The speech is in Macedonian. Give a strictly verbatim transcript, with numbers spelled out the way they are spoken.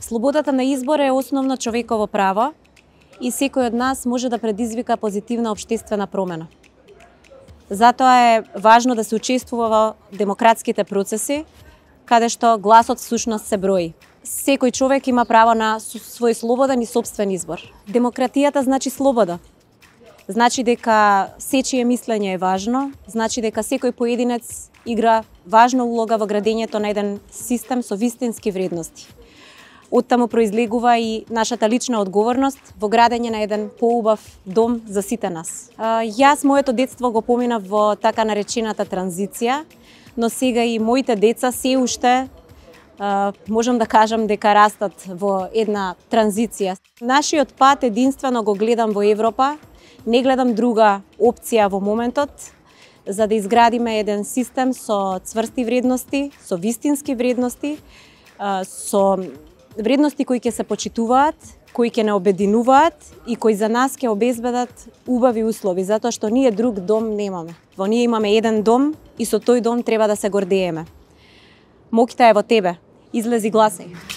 Слободата на избор е основно човеково право и секој од нас може да предизвика позитивна општествена промена. Затоа е важно да се учествува во демократските процеси, каде што гласот всушност се брои. Секој човек има право на свој слободен и собствен избор. Демократијата значи слобода. Значи дека сечие мислење е важно, значи дека секој поединец игра важна улога во градењето на еден систем со вистински вредности. Оттаму произлегува и нашата лична одговорност во градење на еден поубав дом за сите нас. Јас моето детство го поминав во така наречената транзиција, но сега и моите деца се уште можам да кажам дека растат во една транзиција. Нашиот пат единствено го гледам во Европа, не гледам друга опција во моментот, за да изградиме еден систем со цврсти вредности, со вистински вредности, со вредности кои ќе се почитуваат, кои ќе не обединуваат и кои за нас ќе обезбедат убави услови, затоа што ние друг дом немаме. Во ние имаме еден дом и со тој дом треба да се гордееме. Моќта е во тебе. Излези гласај.